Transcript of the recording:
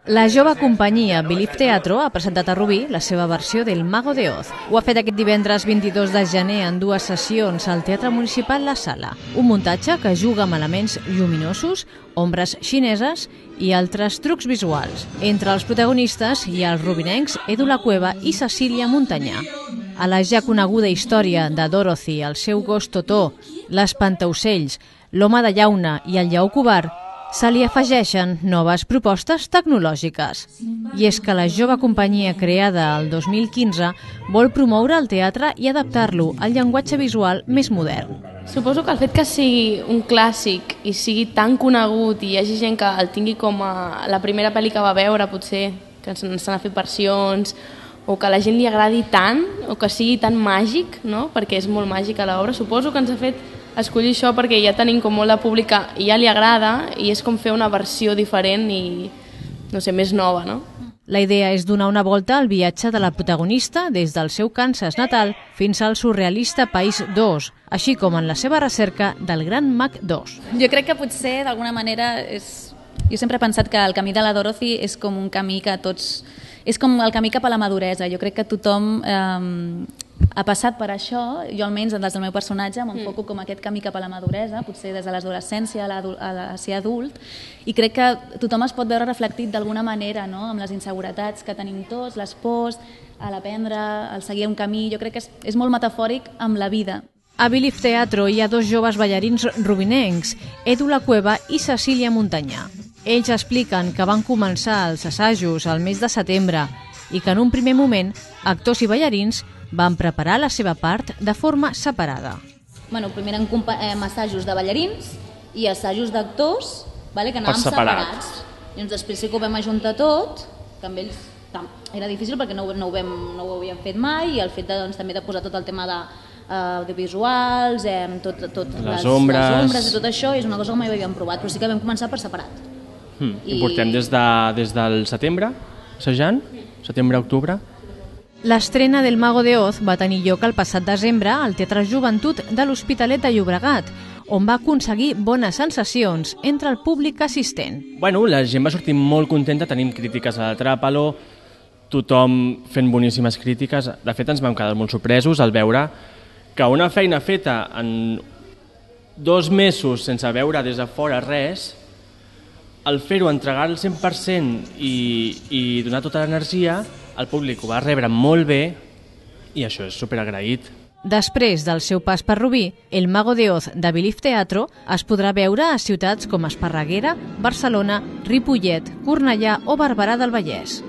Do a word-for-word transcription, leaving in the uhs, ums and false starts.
La jove companyia Believe Teatro ha presentat a Rubí la seva versió del Mago de Oz. Ho ha fet aquest divendres vint-i-dos de gener en dues sessions al Teatre Municipal La Sala. Un muntatge que juga amb elements lluminosos, ombres xineses i altres trucs visuals. Entre els protagonistes hi ha els rubinencs Edu La Cueva i Cecília Montanyà. A la ja coneguda història de Dorothy, el seu gos Totó, l'espantaocells, l'home de llauna i el lleó covard, se li afegeixen noves propostes tecnològiques. I és que la jove companyia creada el dos mil quinze vol promoure el teatre i adaptar-lo al llenguatge visual més modern. Suposo que el fet que sigui un clàssic i sigui tan conegut i hi hagi gent que el tingui com a la primera pel·li que va veure, potser, que se n'han fet versions, o que a la gent li agradi tant, o que sigui tan màgic, no? Perquè és molt màgica l'obra, suposo que ens ha fet escollir això perquè ja tenim com molt de pública i ja li agrada i és com fer una versió diferent i, no sé, més nova, no? La idea és donar una volta al viatge de la protagonista des del seu Kansas natal fins al surrealista País dos, així com en la seva recerca del Gran Mag dos. Jo crec que potser, d'alguna manera, és... jo sempre he pensat que el camí de la Dorothy és com un camí que tots... és com el camí cap a la maduresa. Jo crec que tothom eh, ha passat per això, jo almenys des del meu personatge m'enfoco com aquest camí cap a la maduresa, potser des de l'adolescència a, a ser adult, i crec que tothom es pot veure reflectit d'alguna manera, no? Amb les inseguretats que tenim tots, les pors, a l'aprendre, al seguir un camí. Jo crec que és, és molt metafòric amb la vida. A Believe Teatro hi ha dos joves ballarins rubinencs, Edu La Cueva i Cecília Montanyà. Ells expliquen que van començar els assajos al mes de setembre i que en un primer moment actors i ballarins van preparar la seva part de forma separada. Bueno, primer eren eh, assajos de ballarins i assajos d'actors, vale, que anàvem separats. I doncs després sí que ho vam ajuntar tot, que amb ells era difícil perquè no, no, ho, vam, no ho havíem fet mai, i el fet de, doncs, també de posar tot el tema de Uh, audiovisuals, eh, tot, tot les, les, ombres. les ombres i tot això és una cosa que mai havíem provat, però sí que vam començar per separat. Hmm. I... I portem des, de, des del setembre, assajant, setembre-octubre. L'estrena del Mago de Oz va tenir lloc el passat desembre al Teatre Joventut de l'Hospitalet de Llobregat, on va aconseguir bones sensacions entre el públic assistent. Bueno, la gent va sortir molt contenta, tenim crítiques a l'Atràpalo, tothom fent boníssimes crítiques. De fet, ens vam quedar molt sorpresos al veure que una feina feta en dos mesos sense veure des de fora res, al fer-ho, entregar el cent per cent i, i donar tota l'energia, el públic ho va rebre molt bé i això és superagraït. Després del seu pas per Rubí, el Mago de Oz de Believe Teatro es podrà veure a ciutats com Esparreguera, Barcelona, Ripollet, Cornellà o Barberà del Vallès.